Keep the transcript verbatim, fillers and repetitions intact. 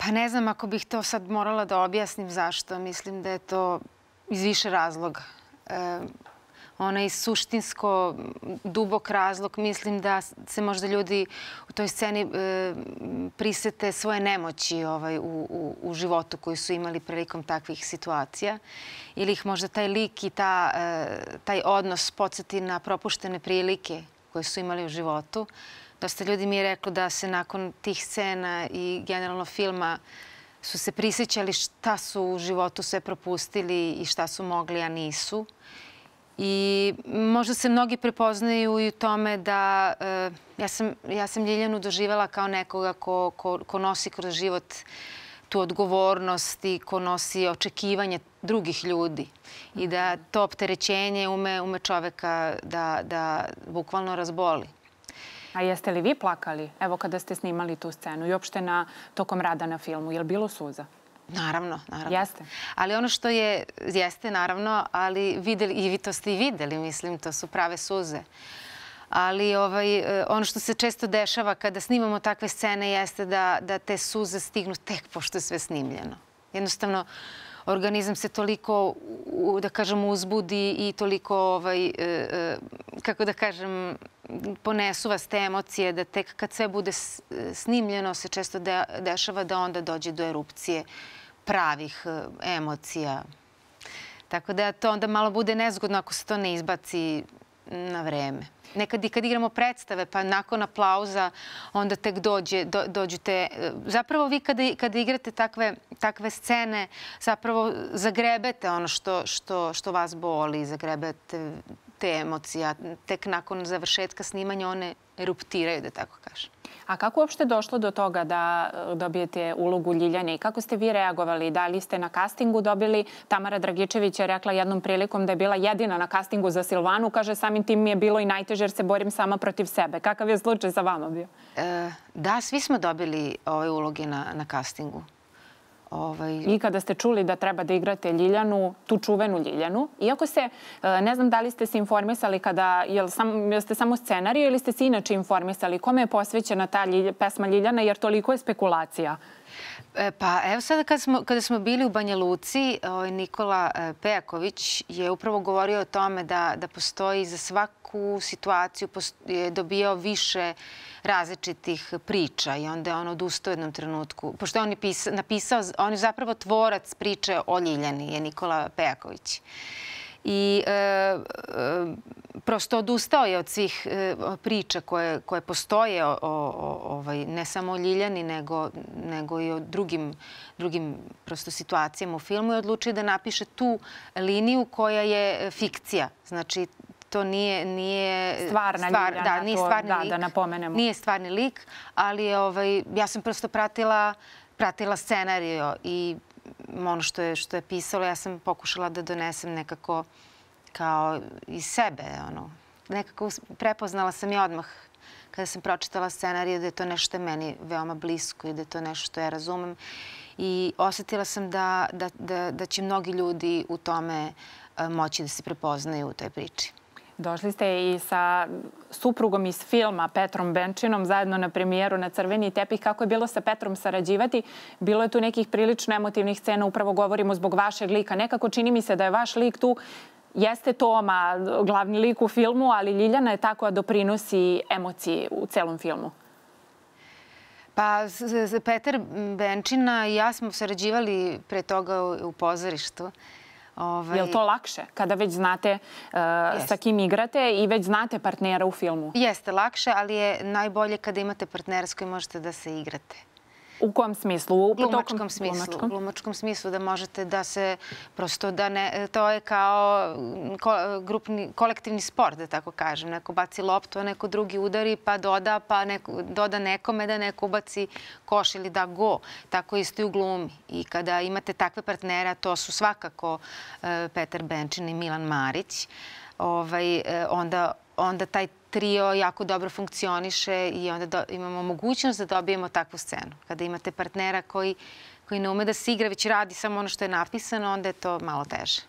Pa ne znam ako bih to sad morala da objasnim zašto. Mislim da je to iz više razloga. E, onaj suštinsko, dubok razlog, mislim da se možda ljudi u toj sceni e, prisete svoje nemoći ovaj, u, u, u životu koji su imali prilikom takvih situacija. Ili ih možda taj lik i ta, e, taj odnos podsjeti na propuštene prilike koje su imali u životu. Dosta ljudi mi je reklo da se nakon tih scena i generalno filma su se prisjećali šta su u životu sve propustili i šta su mogli, a nisu. I možda se mnogi prepoznaju i u tome da e, ja, sam, ja sam Ljiljanu doživjela kao nekoga ko, ko, ko nosi kroz život tu odgovornost i ko nosi očekivanje drugih ljudi. I da to opterećenje ume, ume čoveka da, da bukvalno razboli. A jeste li vi plakali, evo kada ste snimali tu scenu i uopšte na, tokom rada na filmu? Je li bilo suza? Naravno, naravno. Jeste? Ali ono što je, jeste naravno, ali videli, i vi to ste i videli, mislim, to su prave suze. Ali ovaj, ono što se često dešava kada snimamo takve scene jeste da, da te suze stignu tek pošto je sve snimljeno. Jednostavno, organizam se toliko, da kažem, uzbudi i toliko, ovaj, kako da kažem, ponesu vas te emocije da tek kad sve bude snimljeno se često dešava da onda dođe do erupcije pravih emocija. Tako da to onda malo bude nezgodno ako se to ne izbaci na vreme. Nekad i kad igramo predstave, pa nakon aplauza, onda tek dođe, do, dođu te... Zapravo vi kada, kada igrate takve, takve scene, zapravo zagrebete ono što, što, što vas boli, zagrebete te emocije. Tek nakon završetka snimanja one eruptiraju, da tako kažem. A kako uopšte došlo do toga da dobijete ulogu Ljiljane i kako ste vi reagovali? Da li ste na castingu dobili? Tamara Dragičević je rekla jednom prilikom da je bila jedina na castingu za Silvanu. Kaže, samim tim mi je bilo i najteže jer se borim sama protiv sebe. Kakav je slučaj sa vama bio? E, da, svi smo dobili ove uloge na, na castingu. Ovaj... I kada ste čuli da treba da igrate Ljiljanu, tu čuvenu Ljiljanu, iako se, ne znam da li ste se informisali kada, jel, sam, jel ste samo scenariju ili ste se inače informisali, kome je posvećena ta Ljilj, pesma Ljiljana, jer toliko je spekulacija? E, pa evo sada kada smo, kada smo bili u Banja Luci, ovaj, Nikola Pejaković je upravo govorio o tome da, da postoji za svaku situaciju je dobijao više različitih priča i onda je on odustao u jednom trenutku. Pošto je on je napisao, on je zapravo tvorac priče o Ljiljani, je Nikola Pejaković. I e, e, prosto odustao je od svih e, priča koje, koje postoje o, o, ovaj, ne samo o Ljiljani, nego, nego i o drugim, drugim prosto situacijama u filmu i odlučio da napiše tu liniju koja je fikcija. Znači, to nije, nije stvarna stvar, Ljiljana, da, nije to, stvarni da, lik, da napomenemo. Nije stvarni lik, ali ovaj, ja sam prosto pratila, pratila scenariju i ono što je, što je pisalo, ja sam pokušala da donesem nekako kao iz sebe. Ono. Nekako prepoznala sam i odmah kada sam pročitala scenariju da je to nešto meni veoma blisko i da je to nešto što ja razumem. I osjetila sam da, da, da, da će mnogi ljudi u tome moći da se prepoznaju u toj priči. Došli ste i sa suprugom iz filma, Petrom Benčinom, zajedno na premijeru na Crveni tepih. Kako je bilo sa Petrom sarađivati? Bilo je tu nekih prilično emotivnih scena, upravo govorimo zbog vašeg lika. Nekako čini mi se da je vaš lik tu, jeste Toma, glavni lik u filmu, ali Ljiljana je tako da doprinosi emociji u celom filmu. Pa, Petar Benčina i ja smo sarađivali pre toga u pozorištu. Je li to lakše kada već znate sa kim igrate i već znate partnera u filmu? Jeste lakše, ali je najbolje kada imate partnera s kojim možete da se igrate. U kom smislu? U glumačkom smislu. U glumačkom smislu da možete da se prosto da ne... To je kao grupni, kolektivni sport, da tako kažem. Neko baci loptu, a neko drugi udari, pa doda, pa neko, doda nekome da neko ubaci koš ili da go. Tako isto i u glumi. I kada imate takve partnera, to su svakako Petar Benčin i Milan Marić, ovaj, onda, onda taj trio jako dobro funkcioniše i onda do, imamo mogućnost da dobijemo takvu scenu. Kada imate partnera koji, koji ne ume da se igra, već radi samo ono što je napisano, onda je to malo teže.